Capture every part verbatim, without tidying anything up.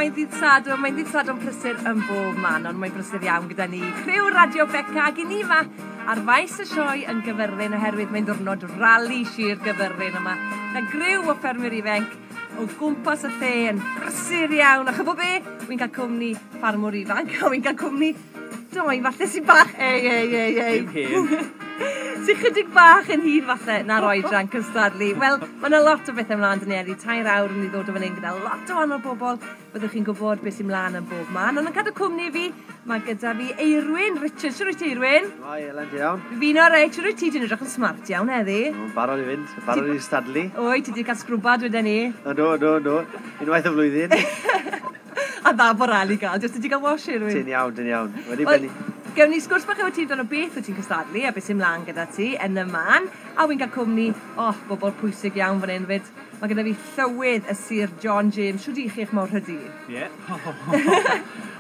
Mae'n ddydd Sadwrn, mae'n ddydd Sadwrn prysur yn bob man, ond mae'n brysur iawn gyda ni. Criw Radio Beca ag i ni yma ar faes y sioe yn Gyfyrddin oherwydd mae'n ddiwrnod rali Sir Gyfyrddin yma. Na griw o ffermwyr ifanc o gwmpas y lle yn brysur iawn. A chybod be? Wy'n cael cwmni ffarmwr ifanc, a wy'n cael cwmni doi falle sy'n bach. Ei, ei, ei, ei. Dim hen. Sy'n chydig bach yn hŷn falle na'r oedran cystadlu. Wel, mae yna lot o bethau ymlaen dyn ni heddi. Tair awr yn ei ddod o fan hyn gyda lot o wahanol bobl. Byddwch chi'n gwybod beth sy'n mlaen yn bob man. Ond yn cadw cwmni fi, mae gyda fi Eirwyn Richards. Siwr wyt ti, Eirwyn? Hi, Elen, ti iawn? Fi'n oreit, siwr wyt ti? Ti'n edrych yn smart iawn heddi. Yn barod i fynd, barod i stadlu. Oi, ti wedi cael sgrwbad wedyn ni. Ydw, ydw, ydw. Unwaith y flwyddyn. A dda bod rali gael, jyst ti wedi cael wash, Eirwyn? Ti'n iawn, ti'n iawn. Wedi benni. Gewn ni sgwrs bach efo ti amdano beth wyt ti'n cystadlu a beth sy'n mlaen gyda ti yn y man. A wy'n cael cwmni, oh, bobl pwysig iawn fan hyn fyd. Mae gyda fi llywydd y Sir John James. Shwd i chi eich mawrhydi? Ie.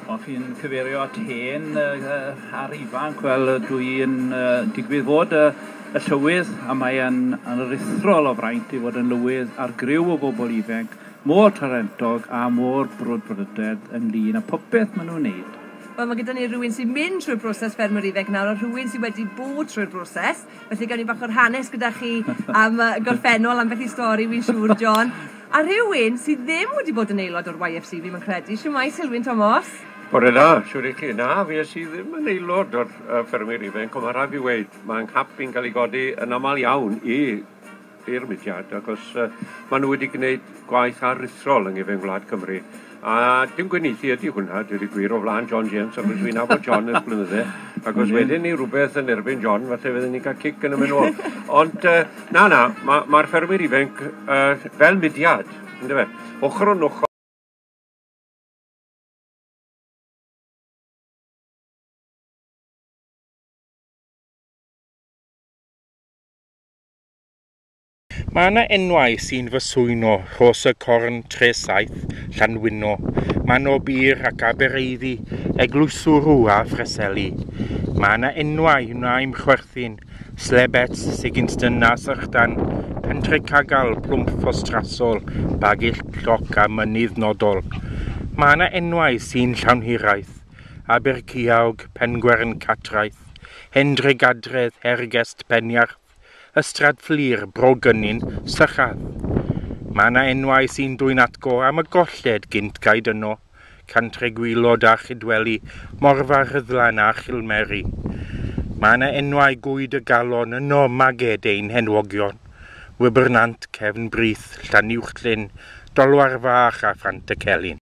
O, chi'n cyfeirio at hen uh, a'r ifanc. Wel, dwi'n uh, digwydd fod uh, y llywydd, a mae'n aruthrol o fraint i fod yn lywydd ar griw o bobl ifanc mor talentog a mor brwdfrydedd ynglyn â popeth maen nhw'n wneud. Wel, mae gyda ni rhywun sy'n mynd trwy'r broses ffermwyr ifanc nawr, a rhywun sydd wedi bod trwy'r broses. Felly gawn ni bach o'r hanes gyda chi am uh, gorffennol, am beth i stori, wy'n siŵr, John. A rhywun sydd ddim wedi bod yn aelod o'r Y F C, fi'n credu. Shwmae, Silwyn Thomas? Bore da, siwr i chi. Na, fi es i ddim yn aelod o'r uh, ffermwyr ifanc, ond mae rhaid fi weud, mae'n nghap i'n cael ei godi yn aml iawn i i'r mudiad, achos uh, maen nhw wedi gwneud gwaith aruthrol yng nghefn gwlad Cymru. A dim gwenieithu ydy hwnna, dweud y gwir, o flaen John James, achos fi'n nabod John ers blynydde, ac os wedyn ni rhywbeth yn erbyn John, falle fydden ni'n cael cic yn y mynd ôl. Ond uh, na, na, mae'r ma ffermwyr ifanc uh, fel mudiad, yndyfe, ochr yn ochr. Mae yna enwau sy'n fy swyno, Rhos y Corn, Tre Saith, Llanwynno, Manorbier ac Abereiddi, Eglwyswrw a Phreseli. Mae yna enwau wna i'm chwerthin, Slebets, Sigginston a Sychdan, Pentre Cagal, Plwmp Ffostrasol, Bagill Cloc a Mynydd Nodol. Mae yna enwau sy'n llawn hiraeth, Aberciawg, Pengwern Catraeth, Hendre Gadredd, Hergest Peniarth, Ystrad Fflur, Bro Gynin, Sychadd. Mae yna enwau sy'n dwyn atgo am y golled gynt gaed yno, Cantre Gwylod a Chydweli, Morfa Rhyddlan a Chilmeri. Mae yna enwau gwyd y galon yno maged ein henwogion, Wybernant, Cefn Brith, Llanuwchllyn, Dolwar Fach a Phant y Celyn.